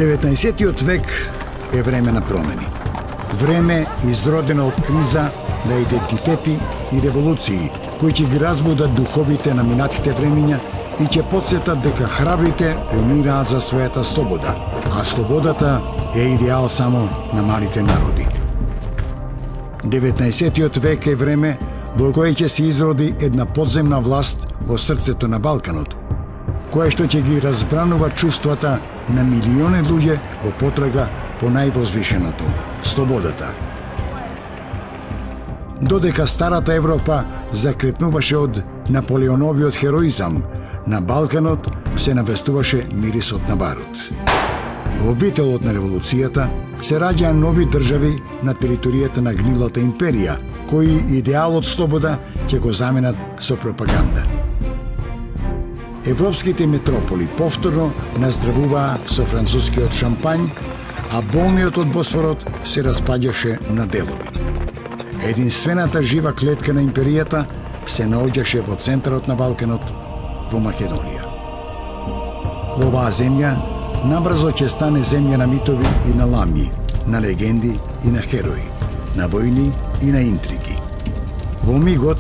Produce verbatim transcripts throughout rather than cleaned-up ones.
деветнаесеттиот век е време на промени. Време изродено од криза на идентитети и револуции, кои ќе ги разбудат духовите на минатите времиња и ќе потсетат дека храбрите умираат за својата слобода, а слободата е идеал само на малите народи. деветнаесеттиот век е време во кое ќе се изроди една подземна власт во срцето на Балканот, која што ќе ги разбранува чувствата на милиони луѓе во потрага по највозвишеното – слободата. Додека старата Европа закрепнуваше од Наполеоновиот хероизам, на Балканот се навестуваше мирисот на барут. Во вителот на револуцијата се раѓаа нови држави на територијата на гнилата империја, кои идеалот слобода ќе го заменат со пропаганда. Европските метрополи повторно наздравуваа со францускиот шампањ, а болниот од Босфорот се распаѓаше на делови. Единствената жива клетка на империјата се наоѓаше во центарот на Балканот, во Македонија. Оваа земја набрзо ќе стане земја на митови и на ламји, на легенди и на херои, на војни и на интриги. Во мигот,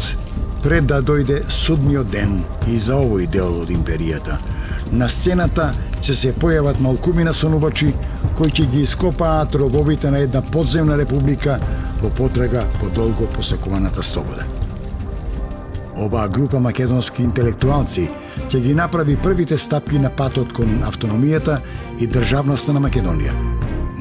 пред да дојде судниот ден и за овој дел од империјата, на сцената ќе се појават малкумина сонувачи кои ќе ги ископаат робовите на една подземна република во потрага по долго посакуваната слобода. Оваа група македонски интелектуалци ќе ги направи првите стапки на патот кон автономијата и државноста на Македонија,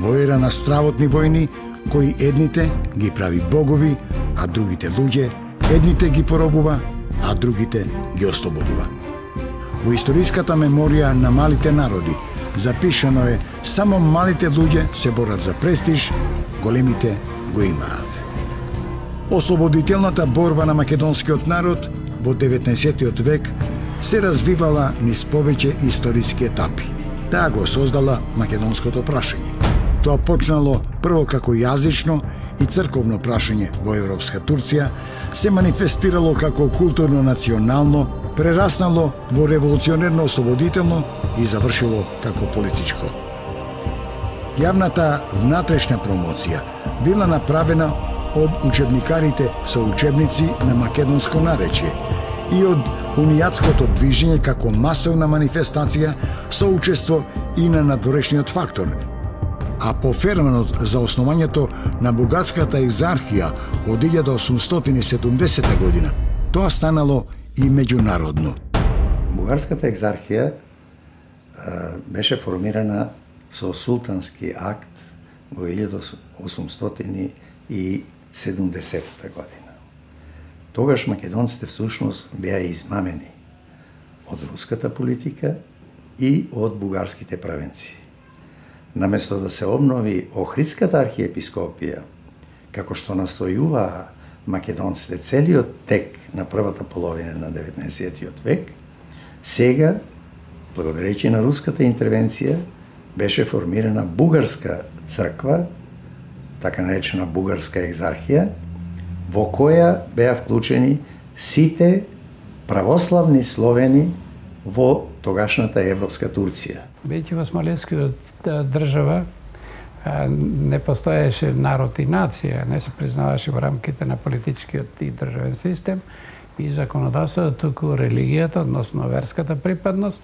во ера на стравотни војни кои едните ги прави богови, а другите луѓе, едните ги поробува, а другите ги ослободува. Во историската меморија на малите народи запишано е само малите луѓе се борат за престиж, големите го имаат. Ослободителната борба на македонскиот народ во деветнаесеттиот век се развивала низ повеќе историски етапи. Таа го создала македонското прашање. Тоа почнало прво како јазично и црковно прашање во европска Турција, се манифестирало како културно-национално, прераснало во револуционерно-ослободително и завршило како политичко. Јавната внатрешна промоција била направена од учебникарите со учебници на македонско наречје и од унијатското движење како масовна манифестација со учество и на надворешниот фактор, а по феноменот за основањето на бугарската екзархија од илјада осумстотини и седумдесета година, тоа станало и меѓународно. Бугарската екзархија беше формирана со султански акт во илјада осумстотини и седумдесета година. Тогаш македонците всушност беа измамени од руската политика и од бугарските правенци. Наместо да се обнови Охридската архиепископија, како што настојуваа македонците целиот тек на првата половина на деветнаесеттиот век, сега, благодарејќи на руската интервенција, беше формирана бугарска црква, така наречена бугарска екзархија, во која беа вклучени сите православни словени во тогашната европска Турција. Бидејќи во османлискиот држава не постоеше народ и нација, не се признаваше во рамките на политичкиот и државен систем и законодавството, туку религијата, односно верската припадност,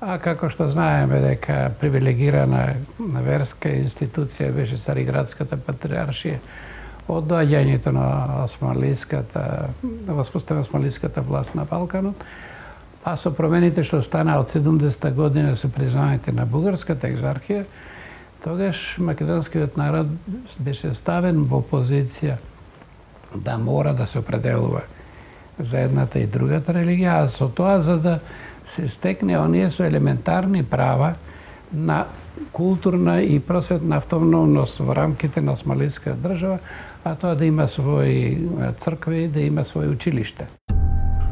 а како што знаеме дека привилегирана верска институција беше Цариградската патриаршија од доаѓањето на османлиската, на воспоставена османлиската власт на Балканот, а со промените што стана од седумдесета година со признавањето на бугарската екзархија, тогаш македонскиот народ беше ставен во позиција да мора да се определува за едната и другата религија, а со тоа за да се стекне оние со елементарни права на културна и просветна автономност во рамките на османлиска држава, а тоа да има своји цркви, да има своји училишта.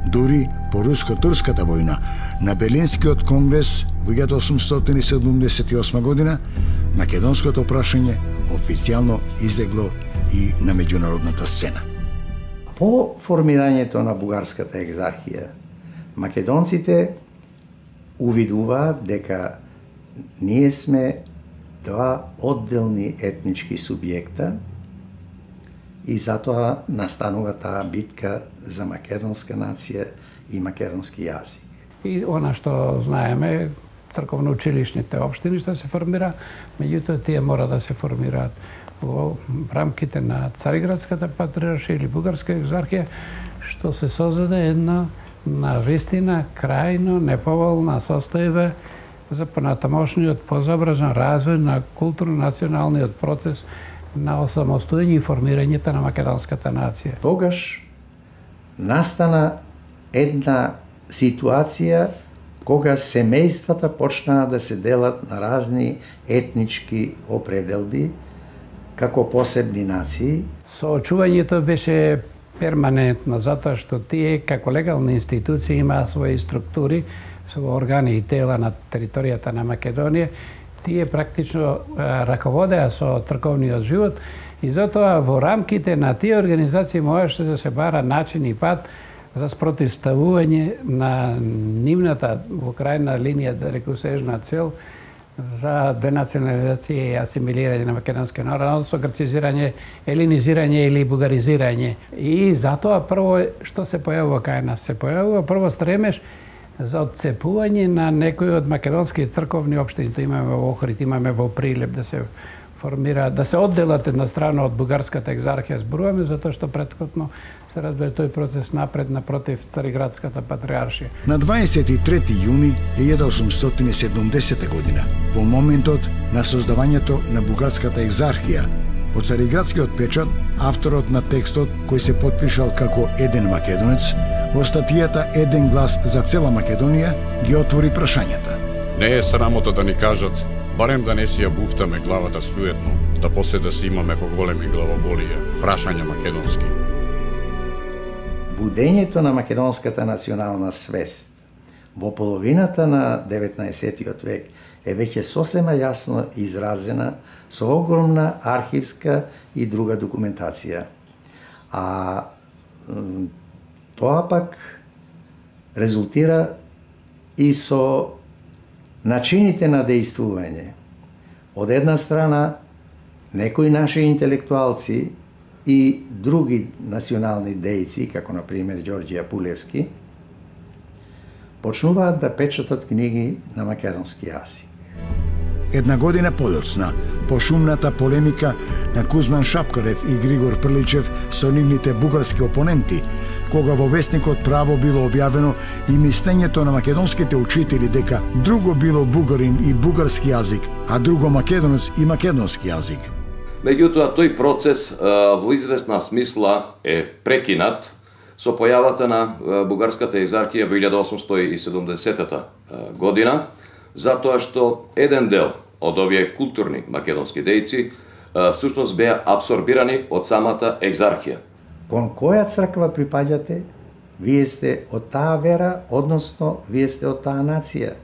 Дури по руско-турската војна на Берлинскиот конгрес во илјада осумстотини и седумдесет и осма година, македонското прашање официјално излегло и на меѓународната сцена. По формирањето на бугарската екзархија, македонците увидуваат дека ние сме два одделни етнички субјекта и затоа настанува таа битка за македонска нација и македонски јазик. И она што знаеме, црковно-училишните општини што се формира, меѓутоа тие мора да се формираат во рамките на Цариградската патриаршија или Бугарска екзархија, што се создаде една навистина крајно неповолна состојба за понатамошниот позабрзан развој на културно-националниот процес на осамостојање и формирањето на македонската нација. Тогаш настана една ситуација кога семејствата почнаа да се делат на разни етнички определби како посебни нации. Соочувањето беше перманентно, затоа што тие како легални институции имаа своји структури, со органи и тела на територијата на Македонија. Тие практично раководеа со црковниот живот и затоа во рамките на тие организации можеше да се бара начин и пат за спротивставување на нивната во крајна линија далекосежна цел за денационализација и асимилирање на македонскиот народ, со грцизирање, елинизирање или бугаризирање. И затоа прво што се појавува кај нас? Се појавува прво стремеж за отцепување на некои од македонски црковни општини. То имаме во Охрид, имаме во Прилеп, да се формира, да се одделат една страна од бугарската екзархија, зборуваме, затоа што претходно се разбира тој процес напред напротив Цариградската патриаршија. На дваесет и трети јуни илјада осумстотини и седумдесета година, во моментот на создавањето на бугарската екзархија, по Цариградскиот печат, авторот на текстот, кој се потпишал како еден македонец, во статијата Еден глас за цела Македонија ги отвори прашањата. Не е срамота да ни кажат, барем да не си ја буфтаме главата суетно, да после да си имаме поголеми главоболија, прашања македонски. Будењето на македонската национална свест во половината на деветнаесеттиот век е веќе сосема јасно изразена со огромна архивска и друга документација. А тоа пак резултира и со начините на дејствување. Од една страна, некои наши интелектуалци и други национални дејци, како на пример Ѓорѓе Апулевски, почнуваат да печатат книги на македонски јазик. Една година подоцна, по шумната полемика на Кузман Шапкарев и Григор Прличев со нивните бугарски опоненти, кога во вестникот Право било објавено и мислењето на македонските учители дека друго било бугарин и бугарски јазик, а друго македонец и македонски јазик. Меѓутоа, тој процес во известна смисла е прекинат со појавата на бугарската екзархија во илјада осумстотини и седумдесетата година, затоа што еден дел од овие културни македонски дејци всушност беа абсорбирани од самата екзархија. Кон која црква припаѓате? Вие сте од таа вера, односно вие сте од таа нација.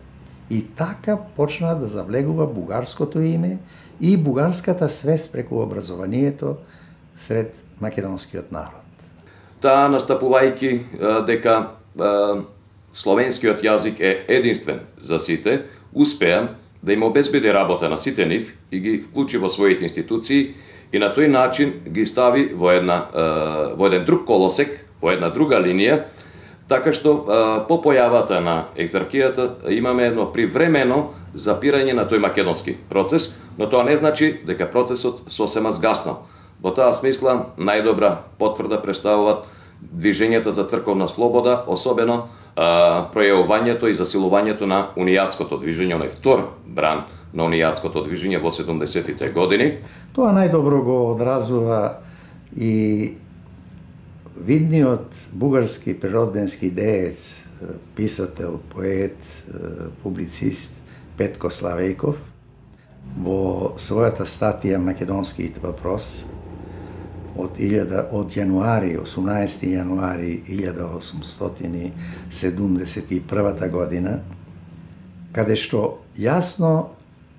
И така почна да завлегува бугарското име и бугарската свест преку образованието сред македонскиот народ. Таа настапувајќи дека словенскиот јазик е единствен за сите, успеа да им обезбеди работа на сите нив и ги вклучи во своите институции и на тој начин ги стави во една во еден друг колосек, во една друга линија, така што по појавата на екзархијата имаме едно привремено запирање на тој македонски процес, но тоа не значи дека процесот сосема згаснал. Во таа смисла најдобра потврда представуваат движењето за црковна слобода, особено а, пројавувањето и засилувањето на унијатското движење, оној втор бран на унијатското движење во седумдесеттите години. Тоа најдобро го одразува и видниот бугарски природбенски деец, писател, поет, публицист Петко Славејков во својата статија Македонскиот въпрос од илјада од јануари, осумнаесети јануари илјада осумстотини седумдесет и прва година, каде што јасно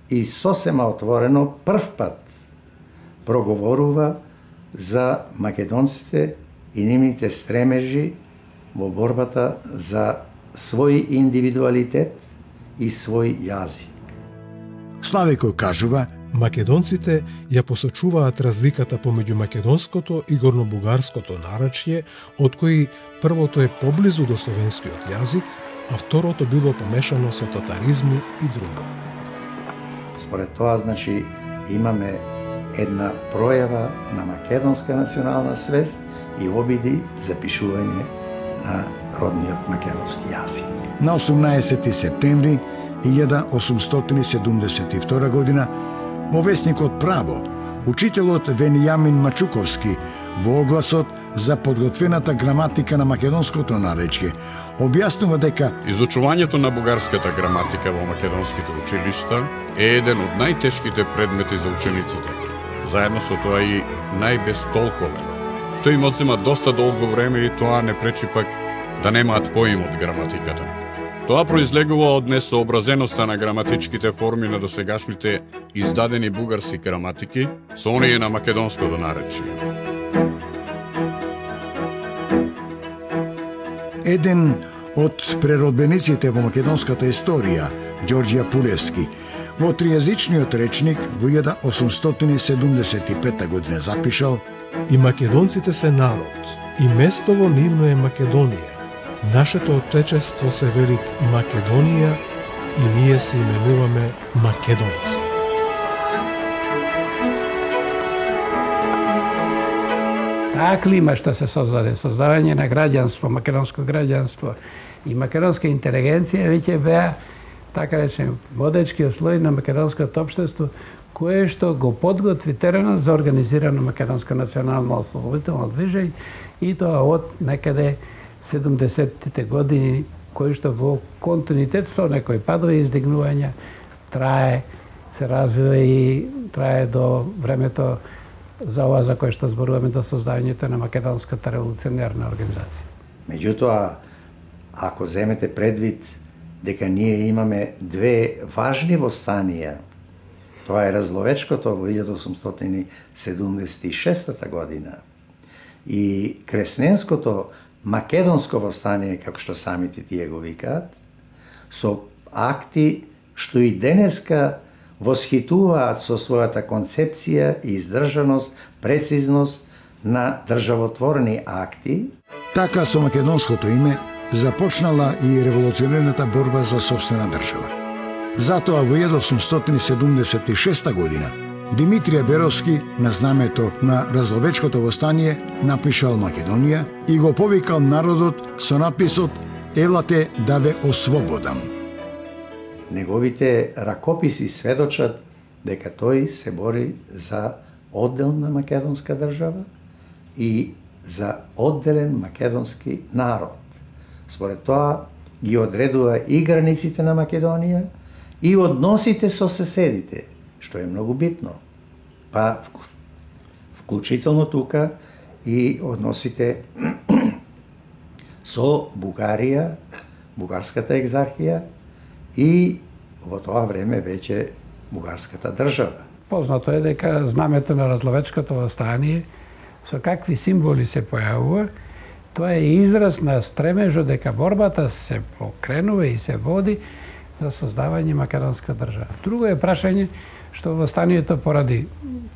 и сосема отворено прв пат проговорува за македонците и нивните стремежи во борбата за свој индивидуалитет и свој јазик. Славејков кажува Македонците ја посочуваат разликата помеѓу македонското и горнобугарското наречје, од кои првото е поблизу до словенскиот јазик, а второто било помешано со татаризми и друго. Според тоа, значи, имаме една пројава на македонска национална свест и обиди за пишување на родниот македонски јазик. На осумнаесети септември илјада осумстотини седумдесет и втора година во весникот Право, учителот Венијамин Мачуковски во огласот за подготвената граматика на македонското наречје објаснува дека изучувањето на бугарската граматика во македонските училишта е еден од најтешките предмети за учениците. Заедно со тоа и најбестолковен. Тој им одзема доста долго време и тоа не пречи пак да немаат поим од граматиката. Тоа произлегува од несообразеноста на граматичките форми на досегашните издадени бугарски граматики со оние на македонското наречје. еден од преродбениците во македонската историја, Ѓорѓе Пулевски, во тријазичниот речник во илјада осумстотини седумдесет и пета година запишал: И македонците се народ, и местово нивно е Македонија. Нашето отечество се велит Македонија и ние се именуваме македонци. Таа клима што се создаде, создавање на граѓанство, македонско граѓанство и македонска интелигенција веќе беа, така речем, водечкиот слој на македонското општество, кое што го подготви теренот за организирано македонско национално ослободително движење и тоа од некаде седумдесеттите години, кој што во континуитет со некои падови и издигнувања трае, се развива и трае до времето за ова за кое што зборуваме, до создавањето на македонската револуционерна организација. Меѓутоа, ако земете предвид дека ние имаме две важни востанија, тоа е Разловечкото во илјада осумстотини седумдесет и шеста година и Кресненското македонско востание, како што самите тие го викаат, со акти што и денеска восхитуваат со својата концепција и издржаност, прецизност на државотворни акти. Така со македонското име започнала и револуционерната борба за сопствена држава. Затоа во илјада осумстотини седумдесет и шеста година Димитрije Беровски на знамето на Разловечкото востание напишал Македонија и го повикал народот со написот "Елате да ве ослободам". Неговите ракописи сведочат дека тој се бори за одделна македонска држава и за одделен македонски народ. Според тоа ги одредува и границите на Македонија и односите со соседите, што е многу битно. Па, вклучително тука и односите со Бугарија, бугарската екзархија и во тоа време веќе бугарската држава. Познато е дека знамето на Разловечкото востание со какви символи се појавува, тоа е израз на стремежот дека борбата се покренува и се води за создавање македонска држава. Друго е прашање што востанието поради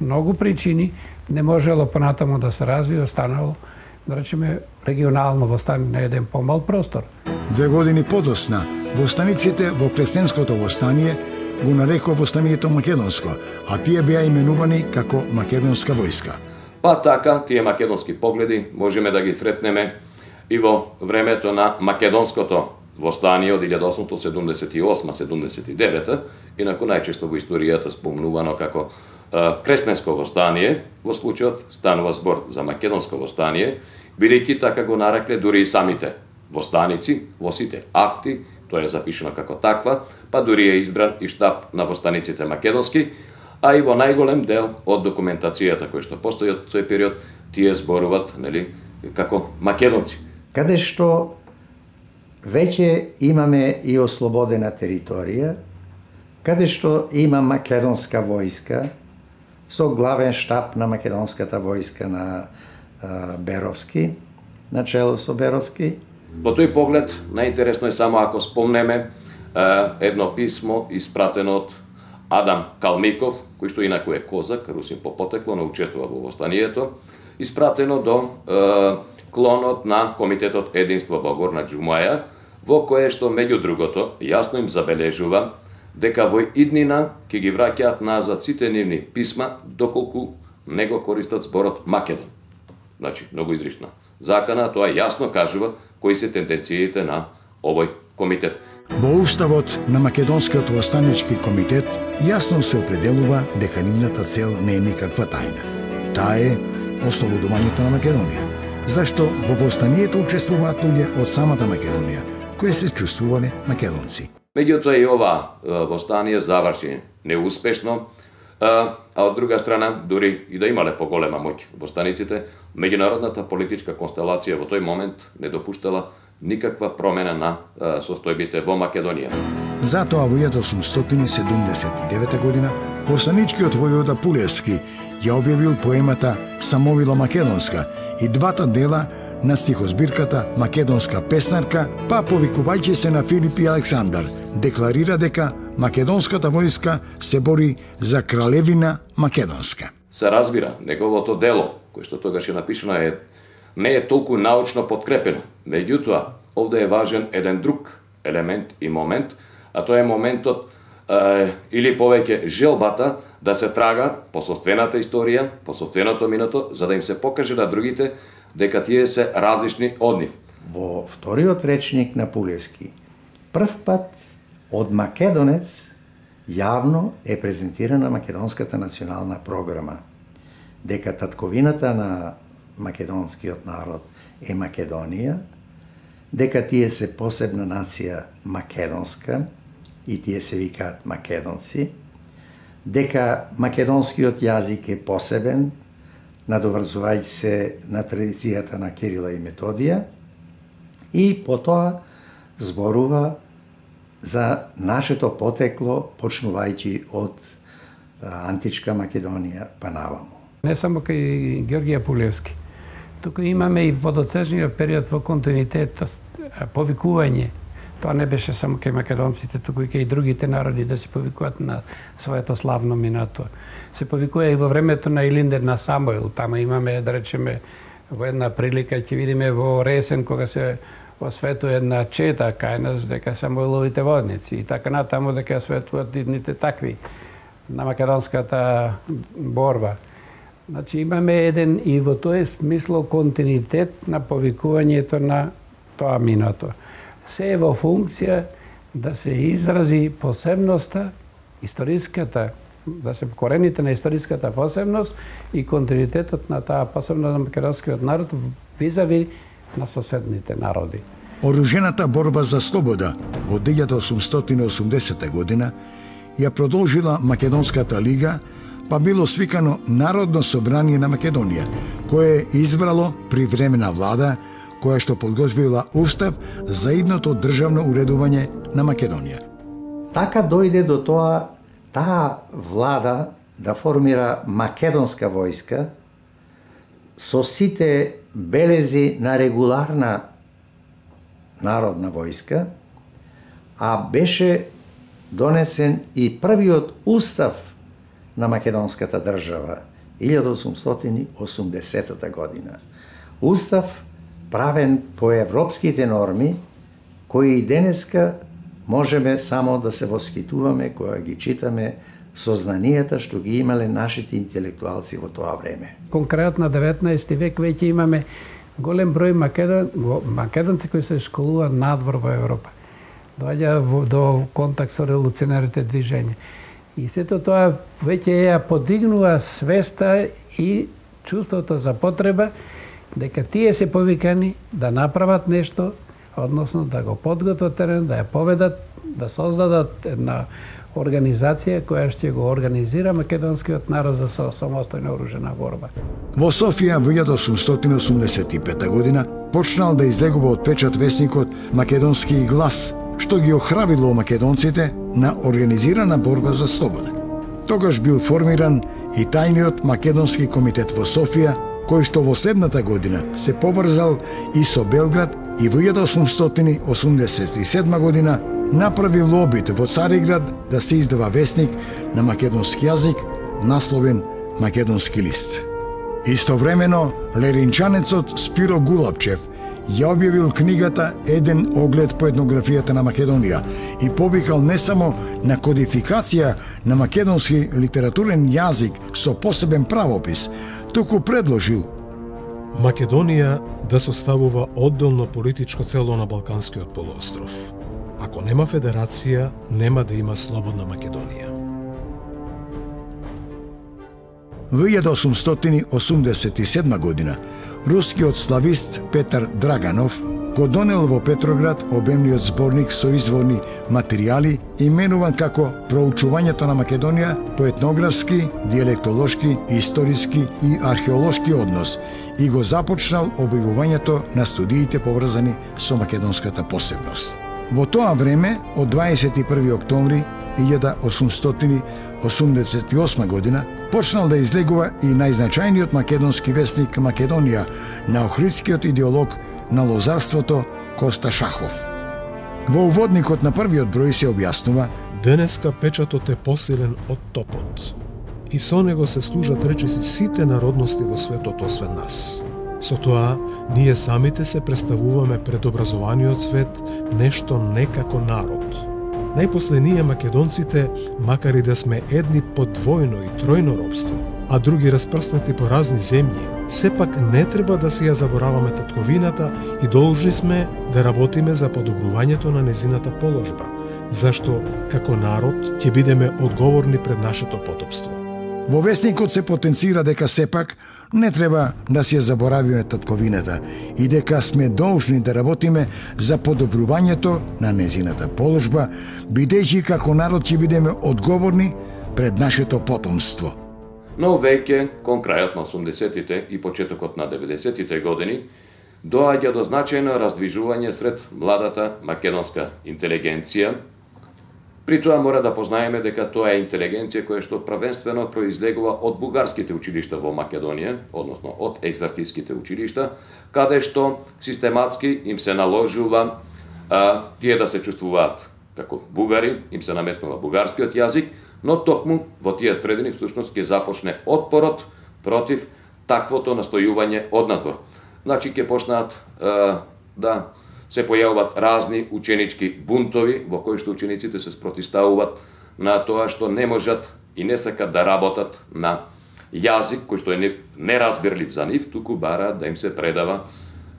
многу причини не можело понатаму да се развие, останало, да речеме, регионално востание на еден помал простор. Две години подосна, востаниците во Кресненското востание го нарекува востанието македонско, а тие беа именувани како македонска војска. Па така, тие македонски погледи можеме да ги сретнеме и во времето на македонското востание од илјада осумстотини седумдесет и осма седумдесет и девета, инаку најчесто во историјата спомнувано како е, Кресненско востание, во случајот станува збор за македонско востание, бидејќи така го нарекле дури и самите востаници во сите акти, тоа е запишено како таква, па дури е избран и штаб на востаниците македонски, а и во најголем дел од документацијата која што постои од тој период, тие зборуваат, нели, како македонци. Каде што веќе имаме и ослободена територија, каде што има македонска војска, со главен штаб на македонската војска на а, Беровски, начело со Беровски. Во тој поглед, најинтересно е само ако спомнеме а, едно писмо испратено од Адам Калмиков, кој што инаку е козак, русин по потекло, но учествува во востанието, испратено до е, клонот на Комитетот Единство Богор на Џумаја, во кое што меѓу другото јасно им забележува дека во иднина ќе ги враќаат назад сите нивни писма доколку не го користат зборот Македон. Значи, многу изрична закана, тоа јасно кажува кои се тенденциите на овој комитет. Во уставот на Македонскиот востанички комитет јасно се определува дека нивната цел не е никаква тајна. Таа е ослободувањето на Македонија, зашто во востанието учествуваат луѓе од самата Македонија, кои се чувствувале македонци. Меѓутоа и ова востание заврши неуспешно, а од друга страна, дури и да имале поголема моќ востаниците, меѓународната политичка констелација во тој момент не допуштала никаква промена на состојбите во Македонија. Затоа во илјада осумстотини седумдесет и девета година востаничкиот војвода Пулевски ја објавил поемата Самовила Македонска и двата дела на стихозбирката Македонска песнарка, па повикувајќи се на Филип и Александар, декларира дека македонската војска се бори за кралевина Македонска. Се разбира, неговото дело, кој што тогаш е напишано, е, не е толку научно подкрепено. Меѓутоа, овде е важен еден друг елемент и момент, а тоа е моментот е, или повеќе желбата да се трага по собствената историја, по собственото минато, за да им се покаже на другите дека тие се различни од нив. Во вториот речник на Пулевски, прв пат од македонец јавно е презентирана македонската национална програма, дека татковината на македонскиот народ е Македонија, дека тие се посебна нација македонска и тие се викаат македонци, дека македонскиот јазик е посебен, надоврзувајќи се на традицијата на Кирила и Методија, и потоа зборува за нашето потекло, почнувајќи од античка Македонија па наваму. Не само кај Георгија Пулевски, туку имаме и водоцежниот период во континуитет, повикување. Тоа не беше само кај македонците, туку и кај другите народи да се повикуваат на своето славно минато. Се повикува и во времето на Илиндер на Самоил. Тама имаме, да речеме, во една прилика ќе видиме во Ресен кога се осветува една чета кај нас дека Самоиловите водници и така натаму дека осветуваат идните такви на македонската борба. Значи имаме еден и во тој смисло континуитет на повикувањето на тоа минато. Се е во функција да се изрази посебноста, историската, да се корените на историската посебност и континуитетот на таа посебност на македонскиот народ визави на соседните народи. Оружената борба за слобода од илјада осумстотини и осумдесета година ја продолжила Македонската лига, па било свикано Народно собрание на Македонија, кое избрало привремена влада која што подготвила устав за идното државно уредување на Македонија. Така дојде до тоа таа влада да формира македонска војска со сите белези на регуларна народна војска, а беше донесен и првиот устав на македонската држава илјада осумстотини и осумдесета година. Устав правен по европските норми, кои и денеска можеме само да се восхитуваме кога ги читаме со знанијата што ги имале нашите интелектуалци во тоа време. Конкретно на деветнаести век веќе имаме голем број македон, македонци кои се школуваат надвор во Европа. Доаѓа до контакт со револуционерите движења. И сето тоа веќе ја подигнува свеста и чувството за потреба дека тие се повикани да направат нешто, односно да го подготват терен, да ја поведат, да создадат една организација која ќе го организира македонскиот народ за самостојна оружена борба. Во Софија во илјада осумстотини и осумдесет и пета година почнал да излегува од печат весникот Македонски глас, што ги охрабрило македонците на организирана борба за слобода. Тогаш бил формиран и тајниот Македонски комитет во Софија, кој што во следната година се поврзал и со Белград и во илјада осумстотини и осумдесет и седма година направи лобит во Цариград да се издава весник на македонски јазик, насловен Македонски лист. Истовремено, леринчанецот Спиро Гулапчев ја објавил книгата Еден оглед по етнографијата на Македонија и повикал не само на кодификација на македонски литературен јазик со посебен правопис, туку предложил Македонија да составува одделно политичко цело на Балканскиот полуостров. Ако нема федерација, нема да има слободна Македонија. Во илјада осумстотини осумдесет и седма година, рускиот славист Петар Драганов го донел во Петроград обемниот зборник со изворни материјали, именуван како Проучувањето на Македонија по етнографски, диалектолошки, историски и археолошки однос и го започнал објавувањето на студиите поврзани со македонската посебност. Во тоа време, од дваесет и први октомври илјада осумстотини осумдесет и осма година, почнал да излегува и најзначајниот македонски весник Македонија на охридскиот идеолог на лозарството Коста Шахов. Во уводникот на првиот број се објаснува: денеска печатот е посилен од топот и со него се служат речиси сите народности во светот освен нас. Со тоа, ние самите се представуваме пред образованиот свет нешто не како народ. Најпосле ние македонците, макар и да сме едни под двојно и тројно робство, а други распрснати по разни земји, сепак не треба да си ја забораваме татковината и должни сме да работиме за подобрувањето на незината положба, зашто како народ ќе бидеме одговорни пред нашето потопство. Во весникот се потенцира дека сепак не треба да си ја заборавиме татковината и дека сме должни да работиме за подобрувањето на незината положба, бидејќи како народ ќе бидеме одговорни пред нашето потомство. Но веќе, кон крајот на осумдесетите и почетокот на деветдесетите години, доаѓа до значајно раздвижување сред младата македонска интелигенција. При тоа мора да познаеме дека тоа е интелигенција која што првенствено произлегува од бугарските училишта во Македонија, односно од екзархиските училишта, каде што систематски им се наложува а, тие да се чувствуваат како бугари, им се наметнува бугарскиот јазик, но токму во тие средини всушност ќе започне отпорот против таквото настојување однадвор. Значи ќе почнат а, да се појавуваат разни ученички бунтови во кои што учениците се спротиставуваат на тоа што не можат и не сакат да работат на јазик кој што е неразбирлив за нив, туку бараат да им се предава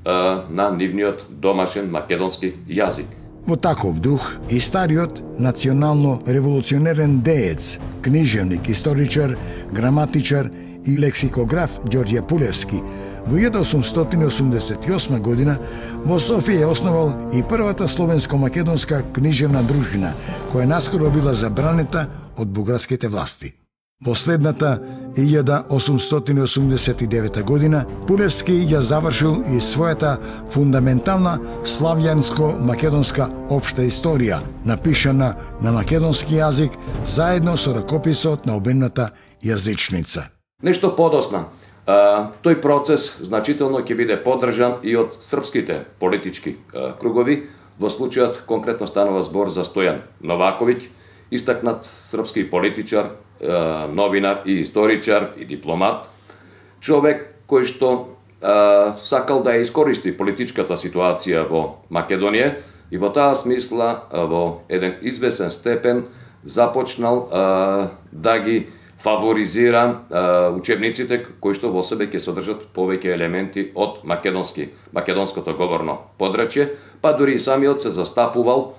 а, на нивниот домашен македонски јазик. Во таков дух и стариот национално револуционерен деец, книжевник, историчар, граматичар и лексикограф Ѓорѓе Пулевски во илјада осумстотини осумдесет и осма година во Софија е основал и првата словенско-македонска книжевна дружина, која наскоро била забранета од бугарските власти. Во следната илјада осумстотини осумдесет и девета година Пулевски ја завршил и својата фундаментална славјанско-македонска општа историја, напишана на македонски јазик заедно со ракописот на обемната јазичница. Нешто подосна, а, тој процес значително ќе биде поддржан и од српските политички а, кругови. Во случајот конкретно станува збор за Стојан Новаковиќ, истакнат српски политичар, а, новинар и историчар и дипломат, човек кој што а, сакал да ја искористи политичката ситуација во Македонија и во таа смисла а, во еден извесен степен започнал а, да ги фаворизира а, учебниците кои што во себе ќе содржат повеќе елементи од македонски, македонското говорно подрачје, па дури и самиот се застапувал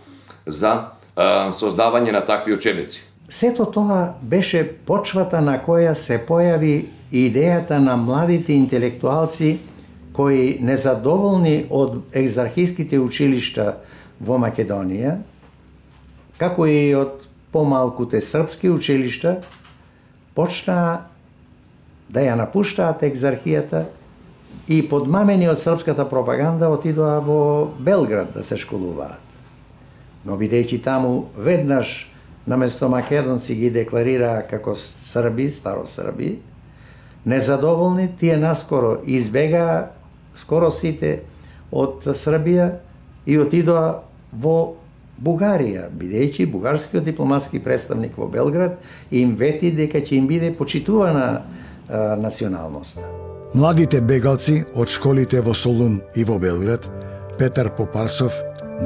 за а, создавање на такви учебници. Сето тоа беше почвата на која се појави идејата на младите интелектуалци кои незадоволни од екзархиските училишта во Македонија, како и од помалкуте српски училишта, почнаа да ја напуштаат екзархијата и подмамени од српската пропаганда отидоа во Белград да се школуваат. Но бидејќи таму веднаш наместо македонци ги декларираа како срби, старосрби, незадоволни, тие наскоро избегаа скоро сите од Србија и отидоа во Бугарија, бидејќи бугарскиот дипломатски представник во Белград им вети дека ќе им биде почитувана а, националноста. Младите бегалци од школите во Солун и во Белград, Петар Попарсов,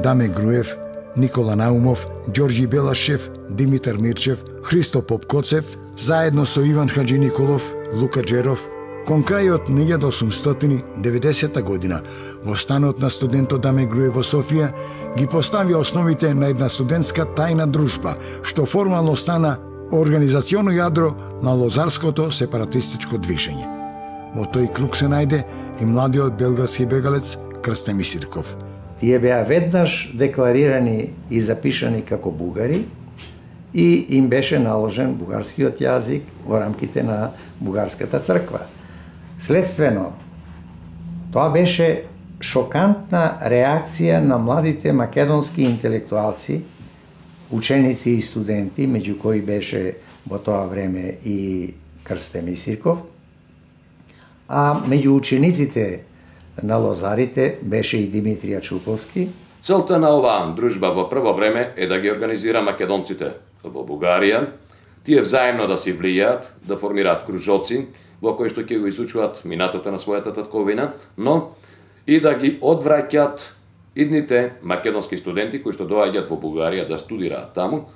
Даме Груев, Никола Наумов, Ѓорѓи Белашев, Димитар Мирчев, Христо Попкоцев, заедно со Иван Хаджи Николов, Лука Джеров, кон крајот на илјада осумстотини и деветдесета година во станот на студентот Даме Груев во Софија ги постави основите на една студентска тајна дружба, што формално стана организационо јадро на лозарското сепаратистичко движење. Во тој круг се најде и младиот белградски бегалец Крстен Мисирков. Тие беа веднаш декларирани и запишани како бугари и им беше наложен бугарскиот јазик во рамките на бугарската црква. Следствено, тоа беше шокантна реакција на младите македонски интелектуалци, ученици и студенти, меѓу кои беше во тоа време и Крстен Мисирков, а меѓу учениците на лозарите беше и Димитрија Чуповски. Целта на оваа дружба во прво време е да ги организира македонците во Бугарија, тие взаимно да си влијаат, да формираат кружоци во кои што ќе го изучуваат минатото на својата татковина, но и да ги одвраќаат идните македонски студенти кои што доаѓаат во Бугарија да студираат таму,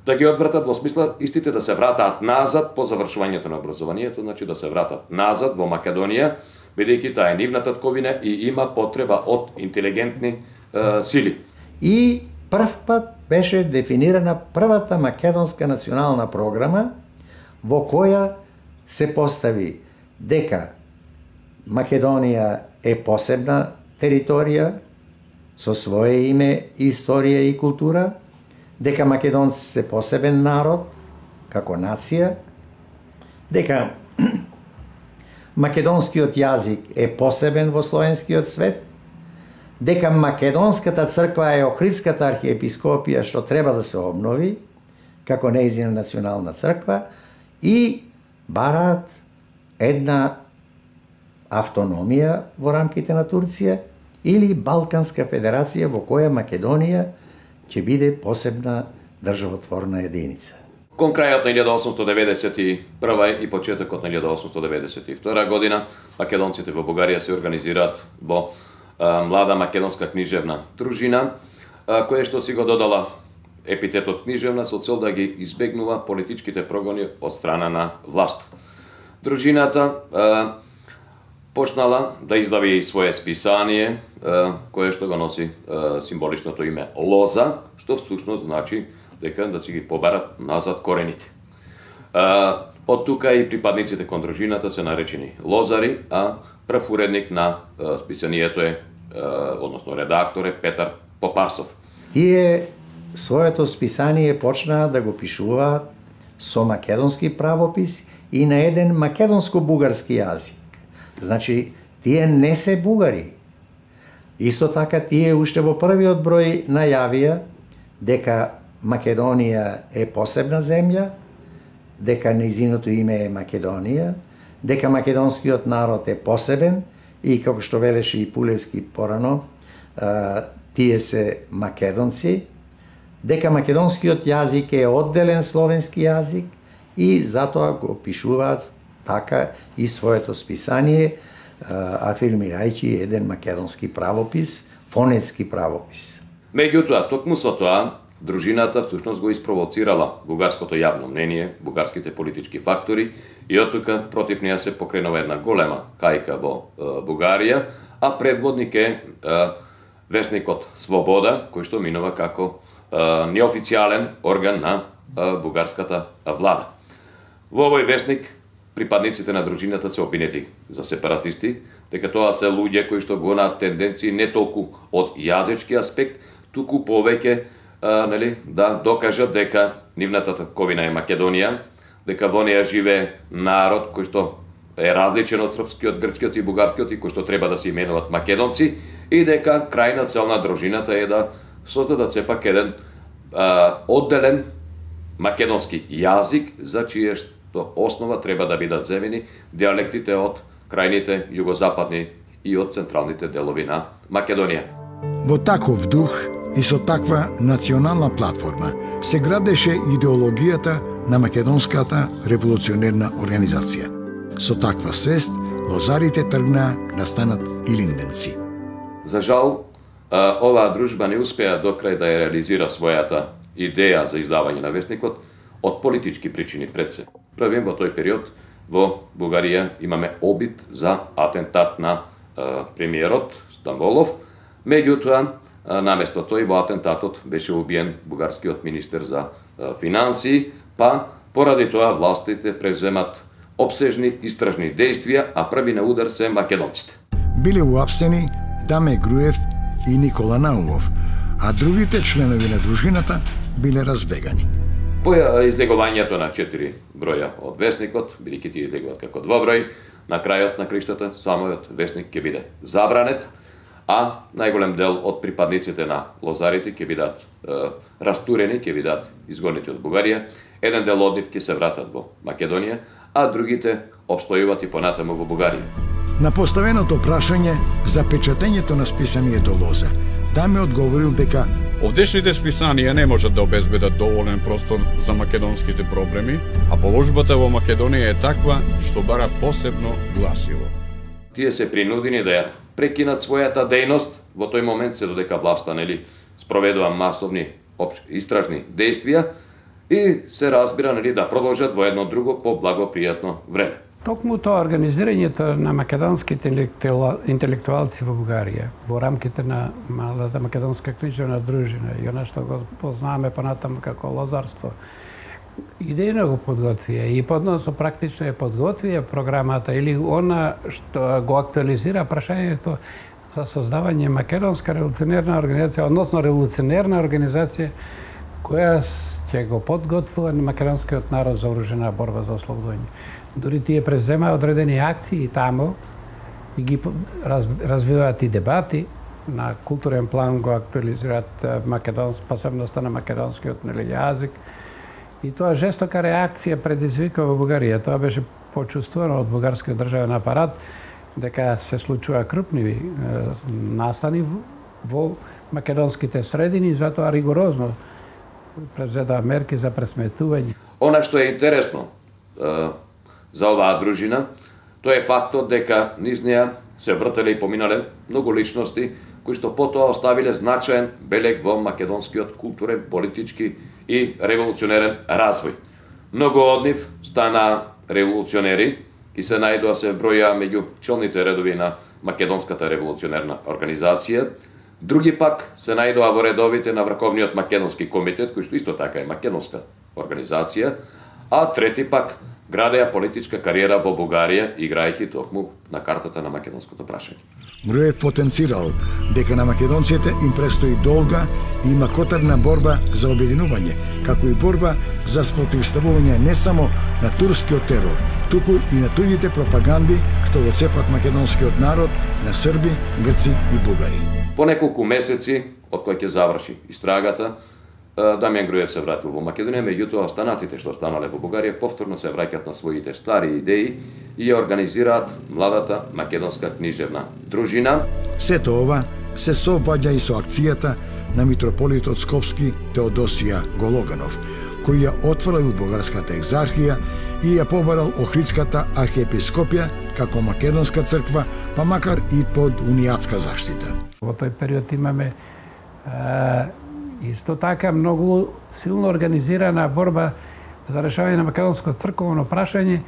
да ги одвратат во смисла истите да се вратаат назад по завршувањето на образованието, значи да се вратат назад во Македонија, бидејќи таа е нивна татковина и има потреба од интелигентни е, сили. И прв пат беше дефинирана првата македонска национална програма во која се постави дека Македонија е посебна територија со свое име, историја и култура, дека македонци се посебен народ како нација, дека македонскиот јазик е посебен во словенскиот свет, дека македонската црква е Охридската архиепископија што треба да се обнови како нејзина национална црква и бараат една автономија во рамките на Турција или Балканска федерација во која Македонија ќе биде посебна државотворна единица. Кон крајот на илјада осумстотини деветдесет и прва и почетокот на илјада осумстотини деветдесет и втора година, македонците во Бугарија се организираат во а, млада македонска книжевна дружина, а, која што си го додала епитетот книжевна со цел да ги избегнува политичките прогони од страна на власт. Дружината а, почнала да издави и свое списание, а, кое што го носи а, символичното име Лоза, што всушност значи дека да си ги побарат назад корените. А, од тука и припадниците кон дружината се наречени лозари, а прв уредник на а, списанието е, а, односно редактор е Петар Попасов. Тие своето списание почнаа да го пишуваат со македонски правопис и на еден македонско-бугарски јазик. Значи, тие не се бугари. Исто така, тие уште во првиот број најавија дека Македонија е посебна земја, дека нејзиното име е Македонија, дека македонскиот народ е посебен и, како што велеше и Пулевски порано, тие се македонци, дека македонскиот јазик е одделен словенски јазик и затоа го пишуваат така и своето списание, афирмирајќи еден македонски правопис, фонетски правопис. Меѓутоа, токму со тоа, дружината всушност го испровоцирала бугарското јавно мнение, бугарските политички фактори и од тука против неја се покренува една голема кајка во е, Бугарија, а предводник е, е весникот Свобода, кој што минува како е, неофицијален орган на е, бугарската влада. Во овој весник припадниците на дружината се обвинети за сепаратисти, дека тоа се луѓе кои што го на тенденции не толку од јазички аспект, туку повеќе а, нели, да докажат дека нивната татковина е Македонија, дека во неја живее народ кој што е различен од српскиот, грчкиот и бугарскиот и кој што треба да се именуваат македонци и дека крајна цел на дружината е да создадат сепак еден а, одделен македонски јазик за чие што основа треба да бидат земени диалектите од крајните југозападни и од централните делови на Македонија. Во таков дух И со таква национална платформа се градеше идеологијата на македонската револуционерна организација. Со таква свест, лозарите тргнаа да станат илинденци. За жал, оваа дружба не успеа до крај да ја реализира својата идеја за издавање на весникот од политички причини пред се. Првим во тој период во Бугарија имаме обид за атентат на премиерот Стамболов, меѓутоа наместо тој во атентатот беше убиен бугарскиот министер за финансии, па поради тоа властите преземат обсежни истражни действија, а први на удар се македонците. Биле уапсени Даме Груев и Никола Наумов, а другите членови на дружината биле разбегани. По излегувањето на четири броја од весникот, бидејќи тие излегуваат како двоброј, на крајот на криштата самиот весник ќе биде забранет, а најголем дел од припадниците на лозарите ќе бидат е, растурени, ќе бидат изгонети од Бугарија. Еден дел од нив ќе се вратат во Македонија, а другите обстојуваат и понатаму во Бугарија. На поставеното прашање за печатењето на списанието Лоза, Даме одговорил дека овдешните списанија не можат да обезбедат доволен простор за македонските проблеми, а положбата во Македонија е таква што бара посебно гласило. Тие се принудени да ја прекинат својата дејност во тој момент се додека власта нели спроведува масовни истражни действија и се разбира нели да продолжат во едно друго поблагопријатно време. Токму тоа организирањето на македонските интелектуалци во Бугарија во рамките на малата македонска книжевна дружина и она што го познаваме понатаму како лозарство, идејно го подготвија и подносно практично е подготвија програмата или она што го актуализира прашањето за создавање македонска револуционерна организација, односно револуционерна организација која ќе го подготвува на македонскиот народ за оружена борба за ослободување. Дури тие преземаа одредени акции таму и ги раз, развиваат и дебати на културен план, го актуализираат македонски, посебноста на македонскиот нели јазик. И тоа жестока реакција предизвика во Бугарија. Тоа беше почувствувано од бугарскиот државен апарат дека се случува крупни е, настани во македонските средини, затоа ригорозно презеда мерки за пресметување. Она што е интересно е, за оваа дружина, тоа е фактот дека низ неа се вртеле и поминале многу личности кои што потоа оставиле значаен белег во македонскиот културен, политички и револуционерен развој. Многу од нив стана револуционери и се најдоа се броја меѓу челните редови на македонската револуционерна организација. Други пак се најдоа во редовите на Врховниот македонски комитет, кој што исто така е македонска организација, а трети пак градеа политичка кариера во Бугарија, играјќи токму на картата на македонското прашање. Груев потенцирал дека на македонците им престои долга и макотарна борба за обединување, како и борба за спротивставување не само на турскиот терор, туку и на туѓите пропаганди што го цепат македонскиот народ на срби, грци и бугари. По неколку месеци од кој ќе заврши истрагата, Дамјан Груев се вратил во Македонија, меѓутоа останатите што останале во Бугарија повторно се враќаат на своите стари идеи и ја организираат младата македонска книжевна дружина. Сето ова се совпаѓа и со акцијата на митрополитот Скопски Теодосија Гологанов, кој ја отворил бугарската екзархија и ја побарал Охридската архиепископија како македонска црква, па макар и под унијатска заштита. Во тој период имаме а, исто така многу силно организирана борба за решавање на македонско црковно прашање,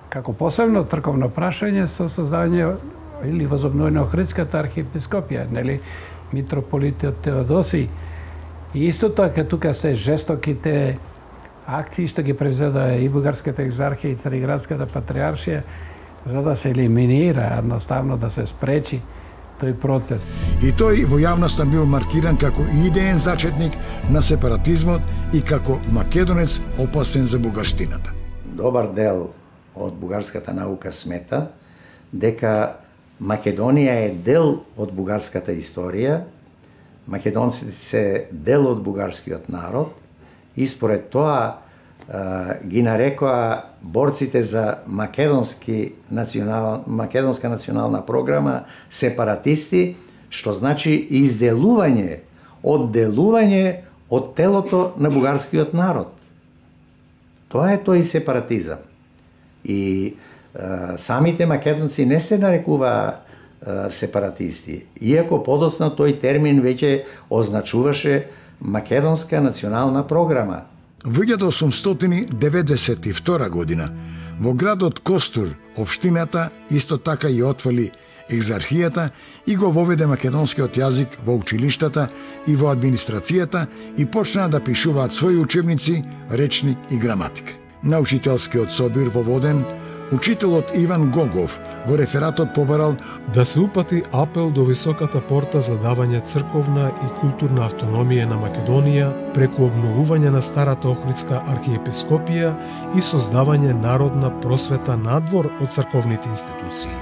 како посебно црковно прашање со создавање или возобновување Охридската архиепископија, нели митрополитот Теодосиј. И исто така тука се жестоките акции што ги превзеда и бугарската екзархија и Цариградската патриаршија за да се елиминира, едноставно да се спречи тој процес. И тој во јавноста бил маркиран како идеен зачетник на сепаратизмот и како македонец опасен за бугарштината. Добар дел од бугарската наука смета дека Македонија е дел од бугарската историја, македонците се дел од бугарскиот народ и според тоа ги нарекоа борците за македонски национал, македонска национална програма сепаратисти, што значи изделување одделување од телото на бугарскиот народ. Тоа е тој сепаратизам. И е, самите македонци не се нарекуваа е, сепаратисти, иако подоцна тој термин веќе означуваше македонска национална програма. Во илјада осумстотини деветдесет и втора година во градот Костур, општината исто така и отвали екзархијата и го воведе македонскиот јазик во училиштата и во администрацијата и почнаа да пишуваат своји учебници, речник и граматика. На учителскиот собир во Воден, учителот Иван Гогов во рефератот побарал да се упати апел до високата порта за давање црковна и културна автономија на Македонија преку обновување на старата Охридска архиепископија и создавање народна просвета надвор од црковните институции.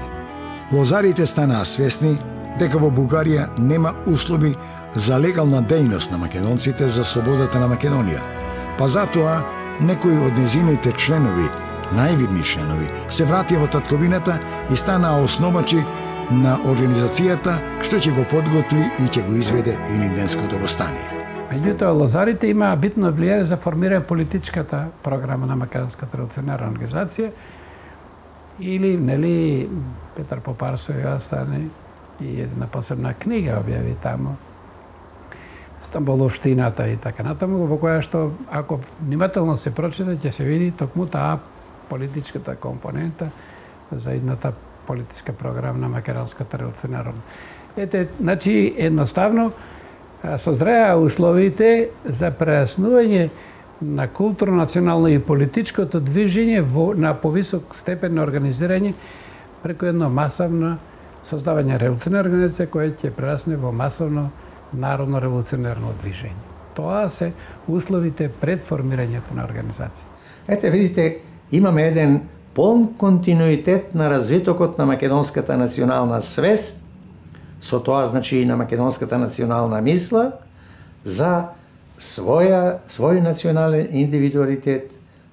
Лозарите станаа свесни дека во Бугарија нема услови за легална дејност на македонците за слободата на Македонија, па затоа некои од незините членови, највидни членови, се вратија во татковината и станаа основачи на организацијата што ќе го подготви и ќе го изведе Илинденското востание. Меѓутоа, лозарите имаа битно влијание за формирање политичката програма на Македонската револуционарна организација, или, нели, Петар Попарсој остане и една посебна книга објави таму, Стамболовштината и така натаму, во која што, ако внимателно се прочита, ќе се види токму таа политичката компонента за едната политичка програма на Македонската револуционарна. Ете, значи, едноставно, созреа условите за прејаснување на културно, национално и политичкото движење во, на повисок степен на организирање преку едно масовно создавање револуционарна организација која ќе прерасне во масовно народно револуционерно движење. Тоа се условите пред формирањето на организација. Ете, видите, имаме еден полн континуитет на развитокот на македонската национална свест, со тоа значи и на македонската национална мисла, за своја, свој национален индивидуалитет,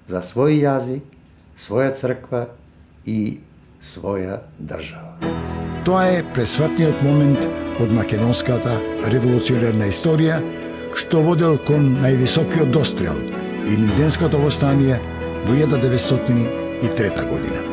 за свој јазик, своја црква и своја држава. Тоа е пресватниот момент од македонската револуционерна историја, што водел кон највисокиот дострел, Илинденското востание во илјада деветстотини и трета година.